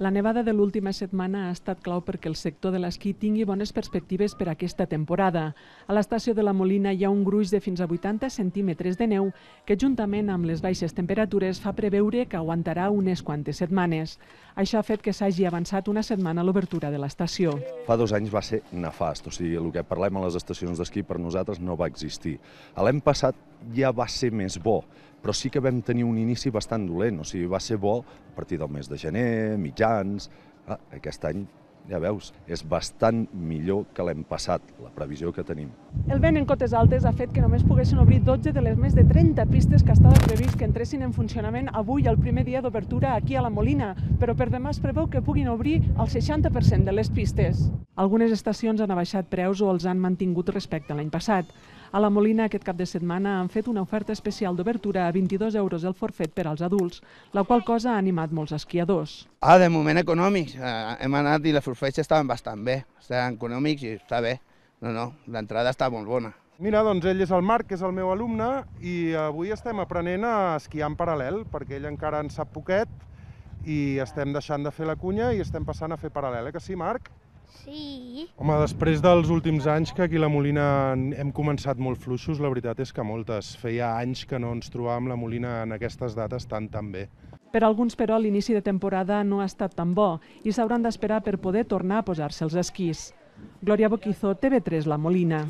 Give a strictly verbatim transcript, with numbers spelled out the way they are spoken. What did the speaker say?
La nevada de l'última setmana ha estat clau perquè el sector de l'esquí tingui bones perspectives per aquesta temporada. A l'estació de la Molina hi ha un gruix de fins a vuitanta centímetres de neu que, juntament amb les baixes temperatures, fa preveure que aguantarà unes quantes setmanes. Això ha fet que s'hagi avançat una setmana l'obertura de l'estació. Fa dos anys va ser nefast, o sigui, el que parlem a les estacions d'esquí per nosaltres no va existir. L'any passat ja va ser més bo, però sí que vam tenir un inici bastant dolent, o sigui, va ser bo a partir del mes de gener, mitjans. Ah, aquest any, ja veus, és bastant millor que l'any passat, la previsió que tenim. El vent en cotes altes ha fet que només poguessin obrir dotze de les més de trenta pistes que estava previst que entressin en funcionament avui, el primer dia d'obertura aquí a la Molina, però per demà es preveu que puguin obrir el seixanta per cent de les pistes. Algunes estacions han abaixat preus o els han mantingut respecte a l'any passat. A la Molina aquest cap de setmana han fet una oferta especial d'obertura a vint-i-dos euros el forfet per als adults, la qual cosa ha animat molts esquiadors. Ah, de moment econòmics. Hem anat i les forfets estaven bastant bé. Estaven econòmics i està bé. No, no, l'entrada està molt bona. Mira, doncs ell és el Marc, que és el meu alumne, i avui estem aprenent a esquiar en paral·lel, perquè ell encara en sap poquet i estem deixant de fer la cunya i estem passant a fer paral·lel, eh que sí, Marc? Sí. Home, després dels últims anys que aquí a la Molina hem començat molt fluixos, la veritat és que moltes. Feia anys que no ens trobàvem la Molina en aquestes dates tan tan bé. Per alguns, però, l'inici de temporada no ha estat tan bo i s'hauran d'esperar per poder tornar a posar-se els esquís. Glòria Boquizo, T V tres, La Molina.